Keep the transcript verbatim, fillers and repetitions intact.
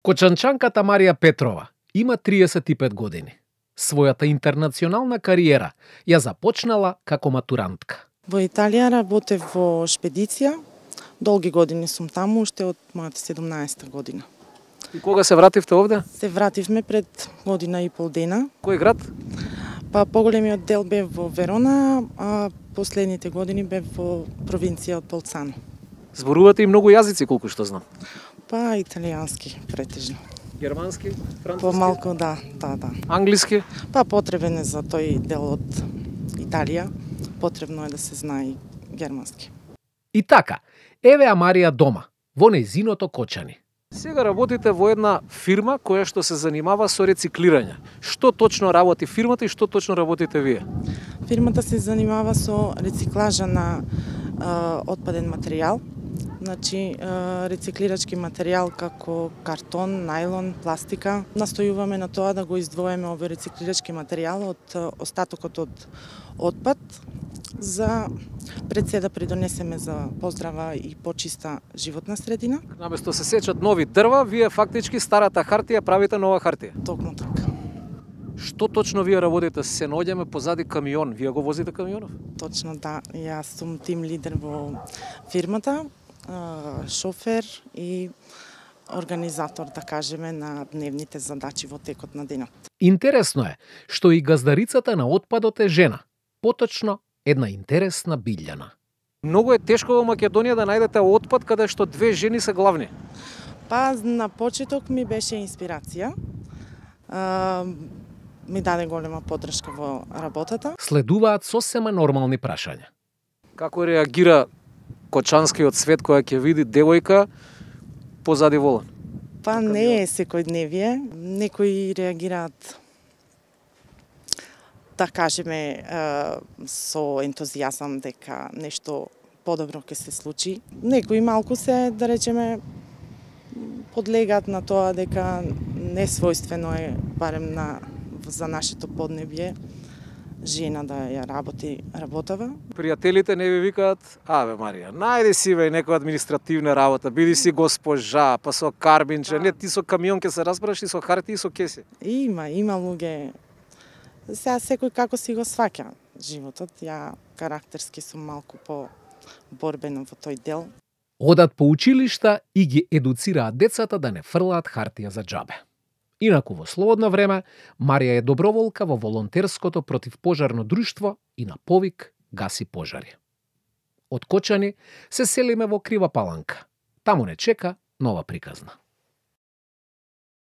Кочанчанката Марија Петрова има триесет и пет години. Својата интернационална кариера ја започнала како матурантка. Во Италија работев во шпедиција. Долги години сум таму, уште од мојата седумнаесета година. И кога се вративте овде? Се вративме пред година и пол дена. Кој град? Па поголемиот дел бев во Верона, а последните години бев во провинција од Болцано. Зборувате и многу јазици, колку што знам. Па италијански претежно. Германски, француски? Помалку, да, да, да. Англиски? Па потребен е за тој дел од Италија. Потребно е да се знае и германски. И така, еве ја Марија дома, во нејзиното Кочани. Сега работите во една фирма која што се занимава со рециклирање. Што точно работи фирмата и што точно работите вие? Фирмата се занимава со рециклажа на а, отпаден материјал. Значи, рециклирачки материјал како картон, најлон, пластика. Настојуваме на тоа да го издвоиме овој рециклирачки материјал од остатокот од отпад за пред се да придонесеме за поздрава и почиста животна средина. Наместо се сечат нови дрва, вие фактички старата хартија правите нова хартија. Токму така. Што точно вие работите? Се наоѓаме позади камион. Вие го возите камионов? Точно, да. Јас сум тим лидер во фирмата, шофер и организатор, да кажеме, на дневните задачи во текот на денот. Интересно е што и газдарицата на отпадот е жена. Поточно, една интересна Билјана. Многу е тешко во Македонија да најдете отпад каде што две жени се главни. Па на почеток ми беше инспирација. А, ми даде голема поддршка во работата. Следуваат сосема нормални прашања. Како реагира кочанскиот свет која ќе види девојка позади волан? Па не е секојдневие. Некои реагираат, да кажеме, со ентузијазам дека нешто подобро ќе се случи. Некои малку се, да речеме, подлегаат на тоа дека несвојствено е, барем на, за нашето поднебје, жена да ја работи работава. Пријателите не ви викаат: "Аве Марија, најди си ве некоја административна работа, биди си госпожа, па со карбинче, да. Не ти со камион ќе се разбереш и со хартија и со кеси." Има, има луѓе. Сега секој како си го сваќа животот. Ја карактерски сум малку по борбена во тој дел. Одат по училишта и ги едуцираат децата да не фрлаат хартија за џабе. Инаку во слободно време Марија е доброволка во волонтерското противпожарно друштво и на повик гаси пожари. Од Кочани се селиме во Крива Паланка. Таму не чека нова приказна.